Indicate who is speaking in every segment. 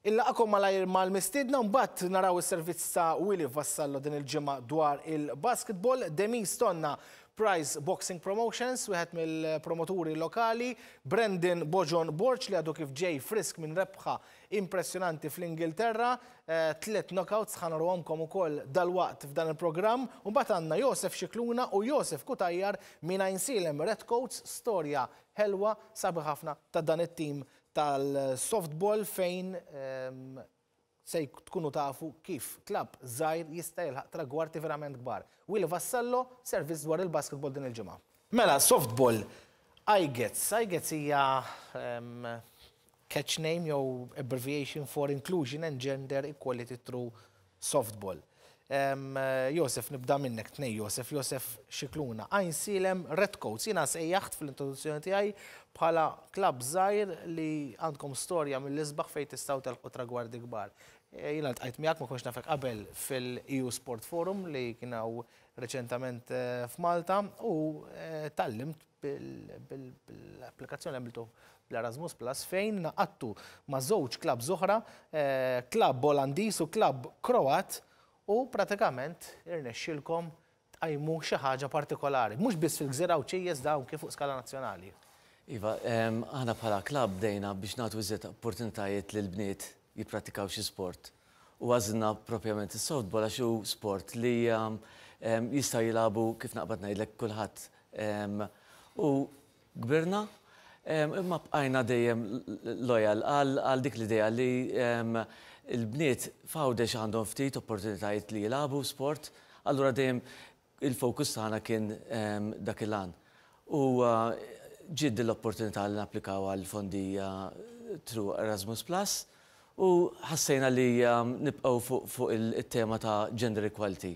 Speaker 1: Inlaqgħakom malajr mal-mistiedna u mbagħad naraw is-servizz ta' Willy Vassallo din il-ġimgħa dwar il-basketball. Demis Tonna, Prize Boxing Promotions, wieħed mill-promoturi lokali, Brandon Bojon Borg li għadu kif ġej frisk minn rebħa impressjonanti fl-Ingilterra, tliet knockouts ħa naruhomkom ukoll dalwaqt f'dan il-programm. U mbagħad għandna Josef Scicluna u Josef Cutajar minn Għajnsielem Redcoats, storja ħelwa sabiħ ħafna ta' dan it-tim tal-softball fejn se tkunu tafu kif klabb żgħir jista' jilħaq tragwardi verament kbar. Willy Vassallo, servizz dwar il-basketball din il-ġimgħa. Mela, softball, IGETS. IGETS hija catch name jew abbreviation for Inclusion and Gender Equality Through Softball. Josef, nibda minnek, tnej Josef, Josef Scicluna. Għajnsielem Redcoats, jiena sejjaħt fl-introduzzjoni tiegħi bħala klabb żgħir li għandkom storja mill-isbaħ fejn tistgħu telħqu tragwardi kbar. Jiena ltqajt miegħek, ma kontx nafek qabel fil-EU Sport Forum li kien hawn reċentament f'Malta u tgħallimt bil-applikazzjoni li għamiltu bl-Erasmus Plus fejn naqattu ma' żewġ klabbs oħra, klabb Olandiż u klabb Kroat u pratikament irnexxielkom tqajmu xi ħaġa partikolari, mhux biss fil-Gżira Għawdxija iżda anki fuq skala nazzjonali.
Speaker 2: Iva, aħna bħala klabb bdejna biex nagħtu iżjed opportunitajiet lill-bniet jipprattikaw xi sport u għażilna propjament is-softball għax hu sport li jista' jilagħbu kif naqbad ngħidlek kulħadd. U kbirna imma bqajna dejjem loyal għal dik l-idea li l-bniet f'Għawdex għandhom ftit opportunitajiet li jilagħbu sport, allura dejjem il-fokus tagħna kien dak il-għan. U ġiet din l-opportunità li napplikaw għal fondi through Erasmus Plus u ħassejna li nibqgħu fuq it-tema ta' gender equality.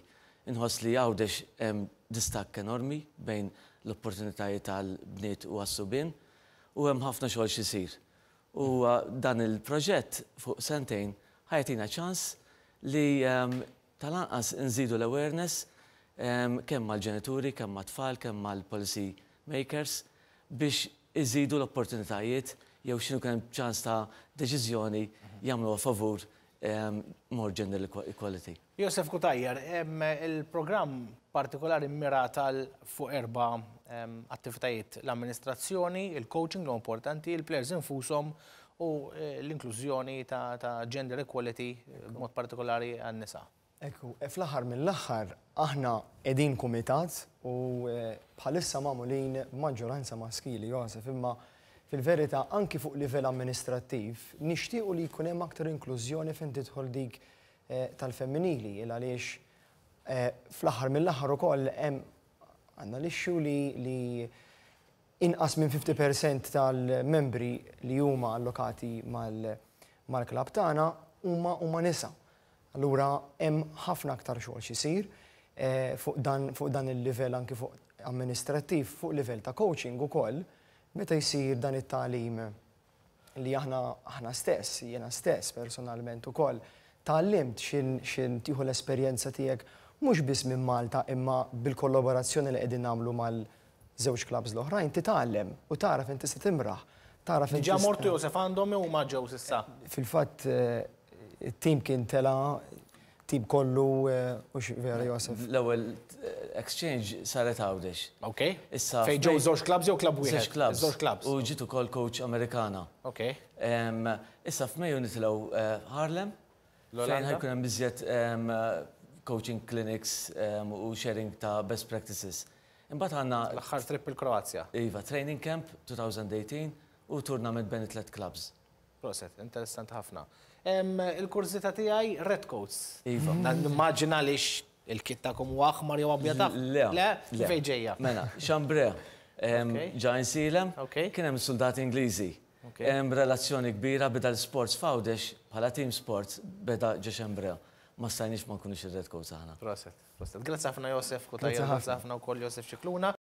Speaker 2: Inħoss li Għawdex hemm distakk enormi bejn l-opportunitajiet għall-bniet u għas-subien u hemm ħafna xogħol x'isir. U dan il-proġett fuq sentejn ħa jagħtina ċans li tal-anqas nżidu l-awareness kemm mal-ġenituri, kemm mat-tfal, kemm mal-policy makers biex iżidu l-opportunitajiet jew x'inhu kemm ċans ta' deċiżjoni jagħmluha favur more gender equality.
Speaker 1: Josef Cutajar, il-programm partikolari mmirat għal fuq erba' attivitajiet: l-amministrazzjoni, il-coaching li importanti, il-players infushom u l-inklużjoni ta' gender equality b'mod partikolari għan-nisa.
Speaker 3: Ekku, fl-aħħar mill-aħħar aħna qegħdin kumitat u bħalissa magħmulin b'maġġoranza maskili, Josef, imma fil-verità anki fuq livell amministrattiv nixtiequ li jkun hemm aktar inklużjoni fejn tidħol dik tal-femminili, il għaliex fl-aħħar mill-aħħar ukoll hemm għandna l-issue li inqas minn 50% tal-membri li huma allokati mal-klabb tagħna huma nisa. Allura hemm ħafna aktar xogħol x'isir fuq dan fuq dan il-livell anki fuq amministrattiv, fuq livell ta' coaching ukoll, meta jsir dan it-tagħlim li aħna aħna stess, jiena stess personalment ukoll, tgħallimt x'in x'in tieħu l-esperjenza tiegħek mhux biss minn Malta imma bil-kollaborazzjoni li qegħdin nagħmlu mal-żewġ clubs l-oħrajn, titgħallem u tara fejn tista' timraħ, tara fejn
Speaker 1: Diġà mortu Josef għandhom jew huma ġew s'issa?
Speaker 3: Fil-fatt it-tim kien tela' tim kollu hux vera Josef?
Speaker 2: L-ewwel exchange saret Għawdex.
Speaker 1: Ok.
Speaker 2: Issa
Speaker 1: Fejn ġew żewġ clubs jew club wieħed?
Speaker 2: Żewġ clubs.
Speaker 1: Żewġ clubs.
Speaker 2: U ġiet ukoll coach Amerikana.
Speaker 1: Ok.
Speaker 2: Issa f'Mejju nitilgħu Haarlem. Fejn ħa jkun hemm iżjed coaching clinics u sharing ta' best practices. Imbagħad għandna
Speaker 1: L-aħħar trip il-Kroazja.
Speaker 2: Iva, training camp 2018 u tournament bejn it-tliet clubs.
Speaker 1: Proset, interessanti ħafna. Il-kurżità tiegħi Redcoats.
Speaker 2: Iva.
Speaker 1: Nimmaġina għaliex il-kit tagħkom huwa aħmar jew abjad aħmar.
Speaker 2: Le.
Speaker 1: Le? Fejn ġejja?
Speaker 2: Mela, Chambray, ġa Għajnsielem, kien hemm is-suldati Ingliżi. Hemm relazzjoni kbira beda l-sports f'Għawdex bħala team sports beda ġo Chambray. Ma stajniex ma nkunux ir-Redcoats aħna.
Speaker 1: Proset, proset. Grazzi ħafna Josef Cutajar, grazzi ħafna wkoll Josef Scicluna.